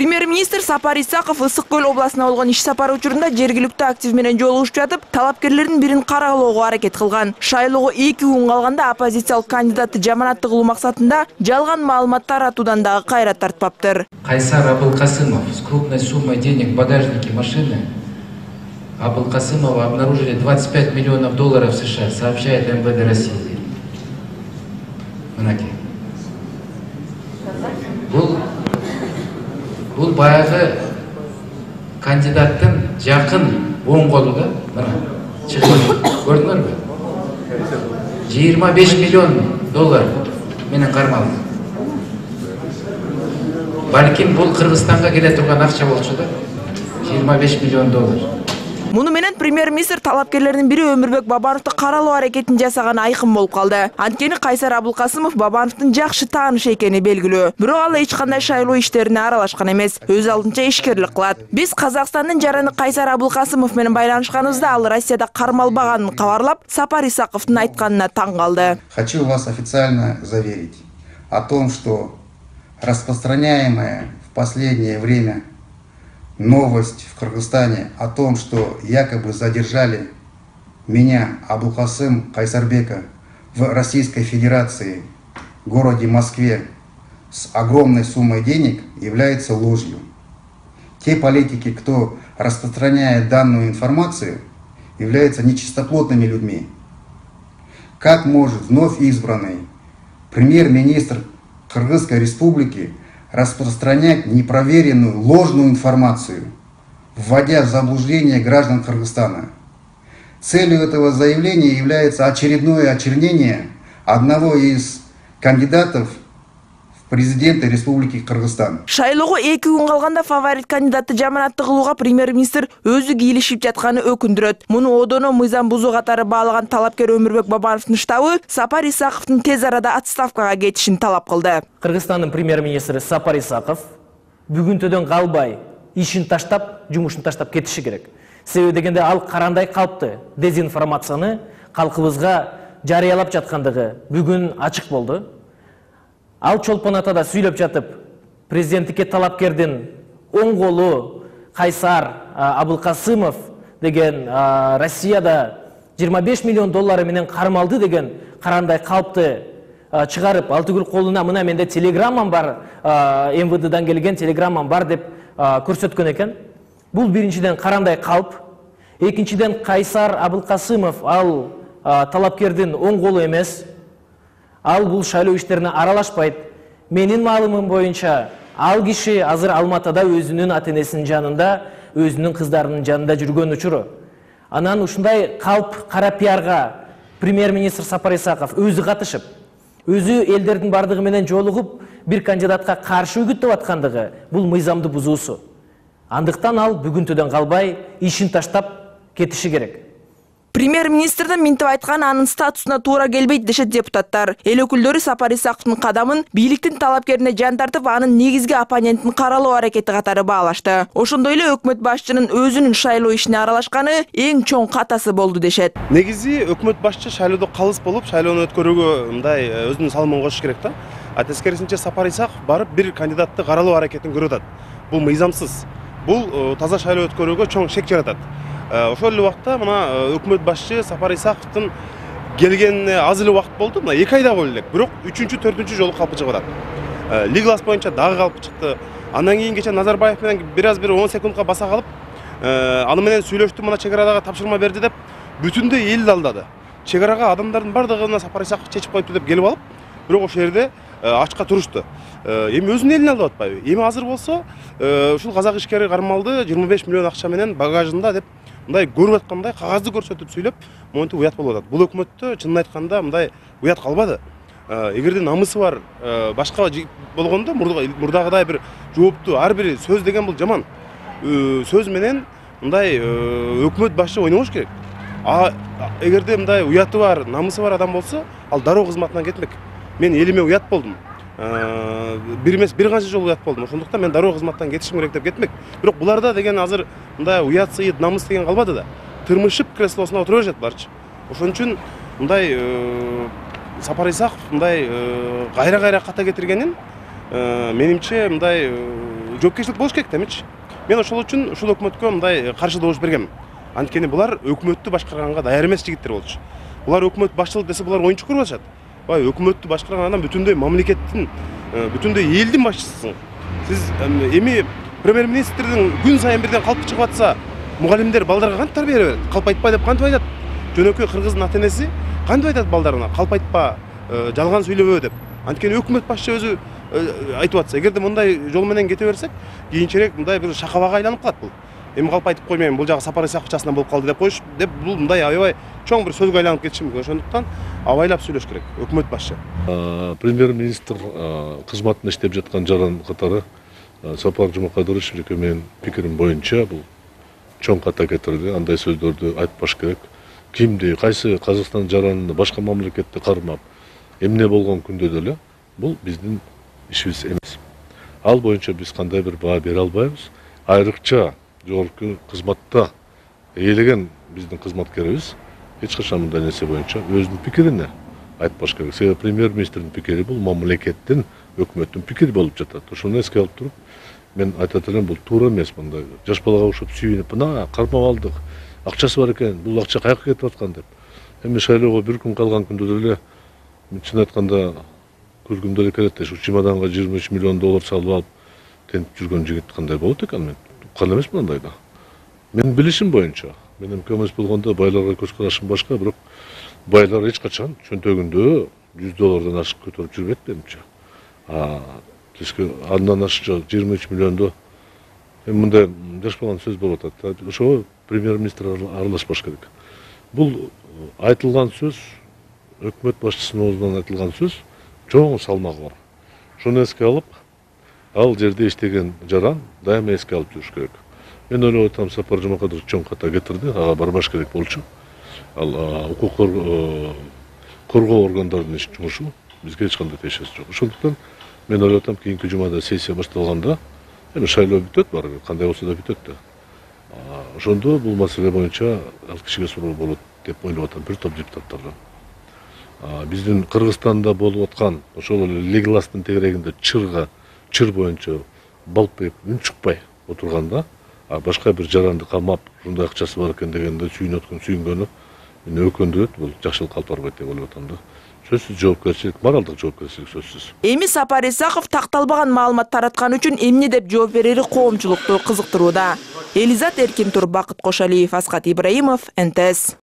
Премьер-министр Сапар Исаков Ысык Көл областына болгон иш сапары учурунда жергиликтүү актив менен жолугушуп жатып, талапкерлердин бирин каралоого аракет кылган. Шайлоого 2 күн калганда оппозициялык кандидатты жаманатты кылуу максатында жалган маалымат таратуудан дагы кайра тартпаптыр. Кайсар Абылкасымов с крупной суммой денег в багажнике машины. Абылкасымова обнаружили 25 миллионов долларов США, сообщает МВД России. Бул баягы кандидаттын жакын оң колу да, мына чыгып көрдүңөрбү? 25 миллион доллар менен кармалды. Балким бул Кыргызстанга келе турган акча болчу да. 25 миллион доллар. Муну менен премьер-министр талапкерлердин бири Өмүрбек Бабановду каралоо аракетин жасаганы айкын болуп калды. Анткени Кайсар Абылкасымов Бабановдун жакшы таанышы экени белгилүү. Бирок ал эч кандай шайлоо иштерине аралашкан эмес, өз алдынча ишкерлик кылат. Биз Казакстандын жараны Кайсар Абылкасымов менен байланышканыбызда ал Россияда кармалбаганын кабарлап, Сапар Исаковдун айтканына таң калды. Хочу вас официально заверить о том, что распространяемая в последнее время новость в Кыргызстане о том, что якобы задержали меня, Абылкасым Кайсарбека, в Российской Федерации, в городе Москве, с огромной суммой денег, является ложью. Те политики, кто распространяет данную информацию, являются нечистоплотными людьми. Как может вновь избранный премьер-министр Кыргызской Республики распространять непроверенную, ложную информацию, вводя в заблуждение граждан Кыргызстана? Целью этого заявления является очередное очернение одного из кандидатов в президенты Республики Кыргызстан. Шайлоого 2 күн калганда фаворит кандидатты жаманатты кылууга премьер-министр өзү кийлишип жатканы өкүндүрөт. Муну одоно мыйзам бузуу катары баалаган талапкер Өмүрбек Бабановдун штабы Сапар Исаковдун тез арада отставкага кетишин талап кылды. Кыргызстандын премьер-министри Сапар Исаков бүгүнтөдөн калбай ишин таштап, жумушун таштап кетиши керек. Себеби дегенде ал карандай калпты дезинформацияны калкыбызга жарыялап жаткандыгы бүгүн ачык болду. Ал чолпон атада сүйлөп жатып, президенттикке талапкердин оң колу Кайсар Абылкасымов деген Россияда 25 миллион доллары менен кармалды деген карандай калпты чыгарып, ал түгүл колуна мына менде телеграммам бар, МВДдан келген телеграммам бар деп көрсөткөн экен. Бул биринчиден карандай калп, экинчиден Кайсар Абылкасымов ал талапкердин оң колу эмес. Ал бул шайлоо иштерине аралашпайт. Менин маалымым боюнча, ал киши азыр Алматыда өзүнүн ата-энесинин жанында, өзүнүн кыздарынын жанында жүргөн учуру. Анан ушундай калп кара пиарга премьер-министр Сапар Исаков өзү катышып, өзү элдердин бардыгы менен жолугуп, бир кандидатка каршы үгүттөп аткандыгы бул мыйзамды бузуусу. Андыктан ал бүгүнтөдөн калбай ишин таштап кетиши керек. Премьер-министрдин минтип айтканы анын статусуна туура келбейт дешет депутаттар. Эл өкүлдөрү Сапар Исаковдун кадамын бийликтин талапкерине жан тартып, анын негизги оппонентин каралоо аракети катары баалашты. Ошондой эле өкмөт башчынын өзүнүн шайлоо ишине аралашканы эң чоң катасы болду дешет. Негизи өкмөт башчы шайлоодо калыс болуп, шайлоону өткөрүүгө мындай өзүнүн салымын кошуш керек да. Тескерисинче Сапар Исаков барып бир кандидатты каралоо аракетин көрүп атат. Бул мыйзамсыз. Бул таза шайлоо өткөрүүгө чоң шек жаратат. Ошол эле убакта мына өкмөт башчы Сапар Исаковдун келгенине аз эле убакыт болду. Мына 2 айда болду элек. Бирок 3-4 жолу калпы чыгып атат. Лиглас боюнча дагы калпы чыкты. Андан кийин кече Назарбаев менен бир 10 секундка баса калып, аны менен сүйлөштү, мына чек арадагы тапшырма берди деп бүтүндөй элди алдады. Чек арага адамдардын бардыгына Сапар Исаков чечип коюпту деп келип алып, бирок ошол жерде ачка турушту. Эми өзүнүн элин алып атпайбы? Эми азыр болсо ушул казак ишкери кармалды 25 миллион акча менен багажында деп мындай көрүп аткандай кагазды көрсөтүп сүйлөп, монтип уят болуп атат. Бул өкмөттө чынын айтканда мындай уят калбады. Эгерде намысы бар башка болгондо мурдагыдай бир жоопту ар бир сөз деген бул жаман. Сөз менен мындай өкмөт башчы ойнобош керек. Эгерде мындай уяты бар, намысы бар адам болсо, ал дароо кызматынан кетмек. Мен элиме уят болдум. Бир эмес, бир канча жолу уят болдум. Ошондуктан мен дароо кызматтан кетишим керек деп кетмек. Бирок буларда деген азыр мындай уят, сыйыт, намыс деген калбады да. Тырмышып креслосуна отура беришет барчы. Ошон үчүн мындай Сапар Исаков мындай кайра ката кетиргенин менимче мындай жоопкерчилик болуш керек да эмечи. Мен ошол үчүн ушул өкмөткө мындай каршы добуш бергем. Анткени булар өкмөттү башкарганга даяр эмес жигиттер болчу. Булар өкмөт башчылык десе булар оюнчук көрүп атышат. Бай өкмөттү башкарган адам бүтүндөй мамлекеттин, бүтүндөй элдин башчысысың. Сиз эми премьер-министрдин күн сайын бирден калп чыгып атса, мугалимдер балдарга кантип тарбия берет? Калп айтпа деп кантип айтат? Жөнөкөй кыргыздын ата-энеси кантип айтат балдарына? Калп айтпа, жалган сүйлөбө деп. Анткени өкмөт башчы өзү айтып атса, эгерде мындай жол менен кете берсек, кийинчерээк мындай бир шакабага айланып калат бул. Эми калп айтып коймойм, бул жагы Сапар Исаковчасынан болуп калды деп коюш, деп бул мындай аябай чоң бир сөзгө айланып кетиши мүмкүн. Ошондуктан абайлап сүйлөш керек өкмөт башчы. Премьер-министр кызматында иштеп жаткан жаран катары Сапар Жумакадырович менин пикирим боюнча бул чоң ката кетирди. Андай сөздөрдү айтпаш керек. Кимди, кайсы Казакстан жаранын башка мамлекетти кармап, эмне болгон күндө деле бул биздин ишибиз эмес. Ал боюнча биз кандай бир баа бере албайбыз. Айрыкча жогорку кызматта ээлеген биздин кызматкерибиз эч качан мындай нерсе боюнча өзүнүн пикирине айтпаш керек. Себеби премьер-министрдин пикири бул мамлекеттин, өкмөттүн пикири болуп жатат. Ошону эске алып туруп, мен айтат элем, бул туура эмес. Мындай жаш балага окшоп сүйүнүп, мына кармап алдык, акчасы бар экен, бул акча каяка кетип аткан деп. Эми шайлоого бир күн калган күндө деле мен чын айтканда күлгүм деле келет. Ушу чемоданга 23 миллион доллар салып алып тентип жүргөн жигит кандай болот экен, мен уккан эмесмин андайда. Менин билишим боюнча, менин көмөс болгондо байларга көз карашым башка, бирок байлар эч качан чөнтөгүндө 100 доллардан ашык көтөрүп жүрбөйт менимче. Андан ашык 23 миллиондо мындай жашпаган сөз болуп атат. Ошого премьер-министр аралашпаш керек. Бул айтылган сөз, өкмөт башчысынын оозунан айтылган сөз чоң салмагы бар. Шуну эске алып, ал жерде иштеген жаран дайыма эске алып жүрүш керек. Мен ойлоп атам, Сапар Жумакадырович чоң ката кетирди, ага барбаш керек болчу. Ал укук коргоо органдарынын иш жумушу бизге эч кандай тиешеси жок. Ошондуктан мен ойлоп атам, кийинки жумада сессия башталганда, эми шайлоо бүтөт барыбир, кандай болсо да бүтөт да. Ошондо бул маселе боюнча ал кишиге суроо болот деп ойлоп атам, бир топ депутаттардан. Биздин Кыргызстанда болуп аткан ошол эле Легластын тегерегинде чыр боюнча балпайып үн чыкпай отурганда, башка бир жаранды камап, ушундай акчасы бар экен дегенде сүйүнгөнү мени өкүндүрөт, бул жакшылыкка алып барбайт деп ойлоп атам да. Сөзсүз жоопкерчилик, моралдык жоопкерчилик сөзсүз. Эми Сапар Исаков такталбаган маалымат тараткан үчүн эмне деп жооп берери коомчулукту кызыктырууда. Элизат Эркинтур, Бакыт Кошалиев, Аскат Ибраимов, НТС.